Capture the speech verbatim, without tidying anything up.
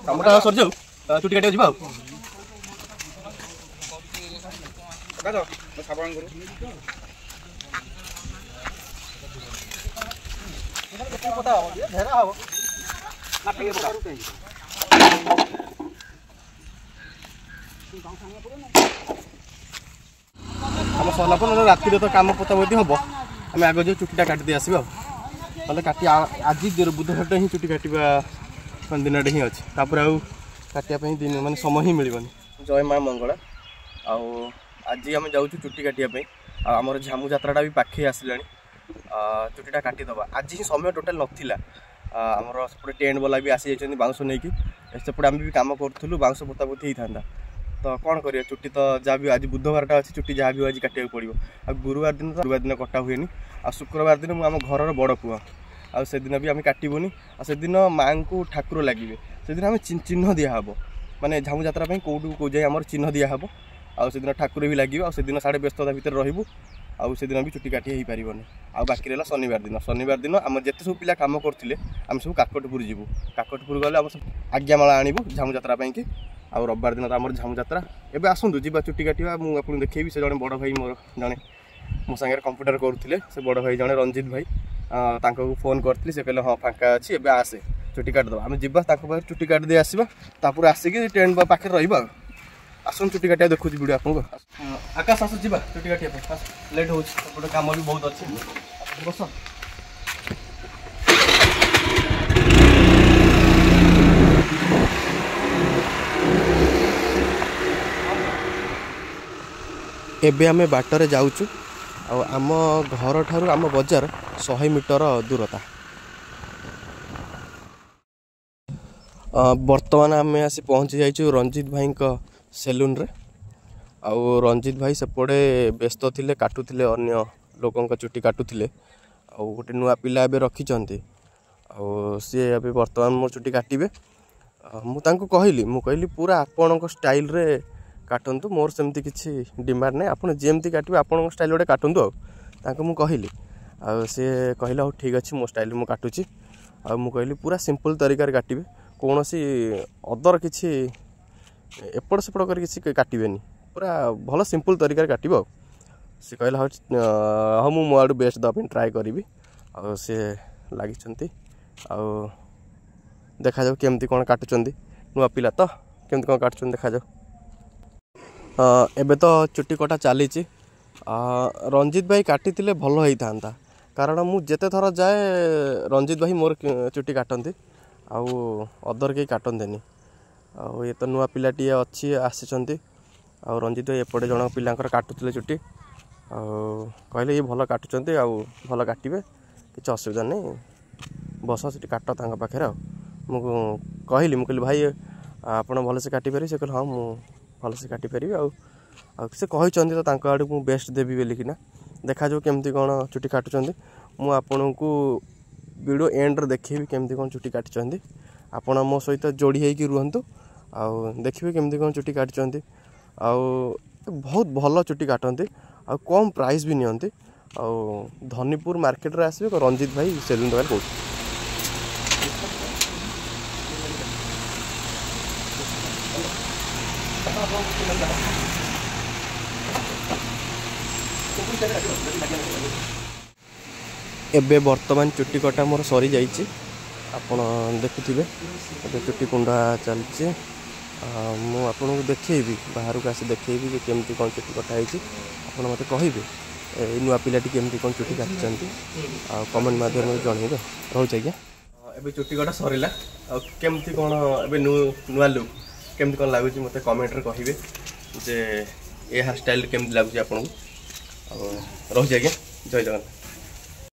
କାମଟା ସରିଯାଉ, ଚୁଟି କାଟିବାକୁ ଯିବା। ଆଉ କାମ ସରିଲା ପରେ ନହେଲେ ରାତିରେ ତ କାମ ପୋତାପୋତି ହବ। ଆମେ ଆଗ ଯେଉଁ ଚୁଟିଟା କାଟିଦେଇ ଆସିବା, ଆଉ ନହେଲେ କାଟି ଆଜି ବୁଧବାରଟା ହିଁ ଚୁଟି କାଟିବା ଦିନଟେ ହିଁ ଅଛି, ତାପରେ ଆଉ କାଟିବା ପାଇଁ ଦିନ ମାନେ ସମୟ ହିଁ ମିଳିବନି। ଜୟ ମା ମଙ୍ଗଳା। ଆଉ ଆଜି ଆମେ ଯାଉଛୁ ଚୁଟି କାଟିବା ପାଇଁ, ଆଉ ଆମର ଝାମୁ ଯାତ୍ରାଟା ବି ପାଖେଇ ଆସିଲାଣି। ଚୁଟିଟା କାଟିଦେବା ଆଜି ହିଁ, ସମୟ ଟୋଟାଲ୍ ନଥିଲା। ଆମର ସେପଟେ ଟେଣ୍ଟ ବାଲା ବି ଆସିଯାଇଛନ୍ତି ବାଉଁଶ ନେଇକି, ସେପଟେ ଆମେ ବି କାମ କରୁଥିଲୁ, ବାଉଁଶ ପୋତାପୋତି ହେଇଥାନ୍ତା। ତ କ'ଣ କରିବା, ଚୁଟି ତ ଯାହା ବି ଆଜି ବୁଧବାରଟା ଅଛି, ଚୁଟି ଯାହା ବି ଆଜି କାଟିବାକୁ ପଡ଼ିବ। ଆଉ ଗୁରୁବାର ଦିନ ତ ଗୁରୁବାର ଦିନ କଟା ହୁଏନି। ଆଉ ଶୁକ୍ରବାର ଦିନ ମୁଁ ଆମ ଘରର ବଡ଼ ପୁଅ, ଆଉ ସେଦିନ ବି ଆମେ କାଟିବୁନି। ଆଉ ସେଦିନ ମାଆଙ୍କୁ ଠାକୁର ଲାଗିବେ, ସେଦିନ ଆମେ ଚିହ୍ନ ଦିଆହେବ, ମାନେ ଝାମୁ ଯାତ୍ରା ପାଇଁ କେଉଁଠୁ କେଉଁ ଯାଇ ଆମର ଚିହ୍ନ ଦିଆହେବ। ଆଉ ସେଦିନ ଠାକୁର ବି ଲାଗିବେ, ଆଉ ସେଦିନ ସାଢ଼େ ବ୍ୟସ୍ତତା ଭିତରେ ରହିବୁ, ଆଉ ସେଦିନ ବି ଚୁଟି କାଟି ହେଇପାରିବନି। ଆଉ ବାକି ରହିଲା ଶନିବାର ଦିନ। ଶନିବାର ଦିନ ଆମର ଯେତେ ସବୁ ପିଲା କାମ କରୁଥିଲେ ଆମେ ସବୁ କାକଟପୁର ଯିବୁ। କାକଟପୁର ଗଲେ ଆମ ଆଜ୍ଞାମାଳ ଆଣିବୁ ଝାମୁ ଯାତ୍ରା ପାଇଁକି। ଆଉ ରବିବାର ଦିନ ତ ଆମର ଝାମୁ ଯାତ୍ରା। ଏବେ ଆସନ୍ତୁ ଯିବା ଚୁଟି କାଟିବା, ମୁଁ ଆପଣଙ୍କୁ ଦେଖେଇବି। ସେ ଜଣେ ବଡ଼ ଭାଇ ମୋର, ଜଣେ ମୋ ସାଙ୍ଗରେ କମ୍ପ୍ୟୁଟର କରୁଥିଲେ, ସେ ବଡ଼ ଭାଇ ଜଣେ ରଞ୍ଜିତ ଭାଇ, ତାଙ୍କୁ ଫୋନ୍ କରିଥିଲି। ସେ କହିଲେ ହଁ ଫାଙ୍କା ଅଛି, ଏବେ ଆସେ ଚୁଟି କାଟିଦେବା। ଆମେ ଯିବା ତାଙ୍କ ପାଖରେ ଚୁଟି କାଟିଦେଇ ଆସିବା, ତାପରେ ଆସିକି ଟେଣ୍ଟ ପାଖରେ ରହିବା। ଆଉ ଆସନ୍ତୁ ଚୁଟି କାଟିବା, ଦେଖୁଛି ଭିଡ଼ିଓ ଆପଣଙ୍କୁ। ଆକାଶ ଆସ ଯିବା ଚୁଟି କାଟିବା ପାଇଁ, ଆସ, ଲେଟ୍ ହେଉଛି, ସେପଟେ କାମ ବି ବହୁତ ଅଛି, ବସ। ଏବେ ଆମେ ବାଟରେ ଯାଉଛୁ, ଆଉ ଆମ ଘରଠାରୁ ଆମ ବଜାର ଶହେ ମିଟର ଦୂରତା। ବର୍ତ୍ତମାନ ଆମେ ଆସି ପହଞ୍ଚି ଯାଇଛୁ ରଞ୍ଜିତ ଭାଇଙ୍କ ସେଲୁନରେ। ଆଉ ରଞ୍ଜିତ ଭାଇ ସେପଟେ ବ୍ୟସ୍ତ ଥିଲେ, କାଟୁଥିଲେ, ଅନ୍ୟ ଲୋକଙ୍କ ଚୁଟି କାଟୁଥିଲେ। ଆଉ ଗୋଟେ ନୂଆ ପିଲା ଏବେ ରଖିଛନ୍ତି, ଆଉ ସିଏ ଏବେ ବର୍ତ୍ତମାନ ମୋ ଚୁଟି କାଟିବେ। ମୁଁ ତାଙ୍କୁ କହିଲି, ମୁଁ କହିଲି ପୁରା ଆପଣଙ୍କ ଷ୍ଟାଇଲରେ କାଟନ୍ତୁ, ମୋର ସେମିତି କିଛି ଡିମାଣ୍ଡ ନାହିଁ, ଆପଣ ଯେମିତି କାଟିବେ ଆପଣଙ୍କ ଷ୍ଟାଇଲ୍ ଗୋଟେ କାଟନ୍ତୁ। ଆଉ ତାଙ୍କୁ ମୁଁ କହିଲି, ଆଉ ସିଏ କହିଲେ ହଉ ଠିକ୍ ଅଛି, ମୋ ଷ୍ଟାଇଲ୍ରେ ମୁଁ କାଟୁଛି। ଆଉ ମୁଁ କହିଲି ପୁରା ସିମ୍ପଲ୍ ତରିକାରେ କାଟିବେ, କୌଣସି ଅଦର କିଛି ଏପଟ ସେପଟ କରି କିଛି କାଟିବେନି, ପୁରା ଭଲ ସିମ୍ପଲ୍ ତରିକାରେ କାଟିବ। ଆଉ ସେ କହିଲା ହଉ ହଁ, ମୁଁ ମୋ ଆଡ଼ୁ ବେଷ୍ଟ ଦେବା ପାଇଁ ଟ୍ରାଏ କରିବି। ଆଉ ସିଏ ଲାଗିଛନ୍ତି, ଆଉ ଦେଖାଯାଉ କେମିତି କ'ଣ କାଟୁଛନ୍ତି। ନୂଆ ପିଲା ତ, କେମିତି କ'ଣ କାଟୁଛନ୍ତି ଦେଖାଯାଉ। ଏବେ ତ ଚୁଟି କଟା ଚାଲିଛି। ରଞ୍ଜିତ ଭାଇ କାଟିଥିଲେ ଭଲ ହେଇଥାନ୍ତା, କାରଣ ମୁଁ ଯେତେ ଥର ଯାଏ ରଞ୍ଜିତ ଭାଇ ମୋର ଚୁଟି କାଟନ୍ତି, ଆଉ ଅଦର କେହି କାଟନ୍ତିନି। ଆଉ ଇଏ ତ ନୂଆ ପିଲାଟିଏ ଅଛି, ଆସିଛନ୍ତି। ଆଉ ରଞ୍ଜିତ ଭାଇ ଏପଟେ ଜଣ ପିଲାଙ୍କର କାଟୁଥିଲେ ଚୁଟି, ଆଉ କହିଲେ ଇଏ ଭଲ କାଟୁଛନ୍ତି ଆଉ ଭଲ କାଟିବେ, କିଛି ଅସୁବିଧା ନାହିଁ, ବସ ସେଠି କାଟ ତାଙ୍କ ପାଖରେ। ଆଉ ମୁଁ କହିଲି, ମୁଁ କହିଲି ଭାଇ ଆପଣ ଭଲସେ କାଟିପାରିବେ? ସେ କହିଲେ ହଁ ମୁଁ ଭଲସେ କାଟିପାରିବି। ଆଉ ଆଉ ସେ କହିଛନ୍ତି ତ ତାଙ୍କ ଆଡ଼କୁ ମୁଁ ବେଷ୍ଟ ଦେବି ବୋଲିକିନା। ଦେଖାଯାଉ କେମିତି କ'ଣ ଚୁଟି କାଟୁଛନ୍ତି। ମୁଁ ଆପଣଙ୍କୁ ଭିଡ଼ିଓ ଏଣ୍ଡରେ ଦେଖେଇବି କେମିତି କ'ଣ ଚୁଟି କାଟିଛନ୍ତି। ଆପଣ ମୋ ସହିତ ଯୋଡ଼ି ହେଇକି ରୁହନ୍ତୁ ଆଉ ଦେଖିବେ କେମିତି କ'ଣ ଚୁଟି କାଟିଛନ୍ତି। ଆଉ ବହୁତ ଭଲ ଚୁଟି କାଟନ୍ତି, ଆଉ କମ୍ ପ୍ରାଇସ୍ ବି ନିଅନ୍ତି। ଆଉ ଧନୀପୁର ମାର୍କେଟରେ ଆସିବେ, ରଞ୍ଜିତ ଭାଇ ସେଲୁନ୍ ଦୋକାନ କହୁଛି। ଏବେ ବର୍ତ୍ତମାନ ଚୁଟି କଟା ମୋର ସରିଯାଇଛି, ଆପଣ ଦେଖୁଥିବେ ଏବେ ଚୁଟି କୁଣ୍ଡା ଚାଲିଛି। ମୁଁ ଆପଣଙ୍କୁ ଦେଖେଇବି, ବାହାରକୁ ଆସି ଦେଖେଇବି ଯେ କେମିତି କ'ଣ ଚୁଟି କଟା ହେଇଛି। ଆପଣ ମୋତେ କହିବେ ଏଇ ନୂଆ ପିଲାଟି କେମିତି କ'ଣ ଚୁଟି କାଟିଛନ୍ତି, ଆଉ କମେଣ୍ଟ ମାଧ୍ୟମରେ ଜଣେଇବେ। ରହୁଛି ଆଜ୍ଞା। ଏବେ ଚୁଟି କଟା ସରିଲା, ଆଉ କେମିତି କ'ଣ ଏବେ ନୂଆ ଲୁକ୍ କେମିତି କ'ଣ ଲାଗୁଛି ମୋତେ କମେଣ୍ଟରେ କହିବେ ଯେ ଏ ହେୟାର ଷ୍ଟାଇଲ୍ କେମିତି ଲାଗୁଛି ଆପଣଙ୍କୁ। ଆଉ ରହୁଛି ଆଜ୍ଞା, ଜୟ ଜଗନ୍ନାଥ।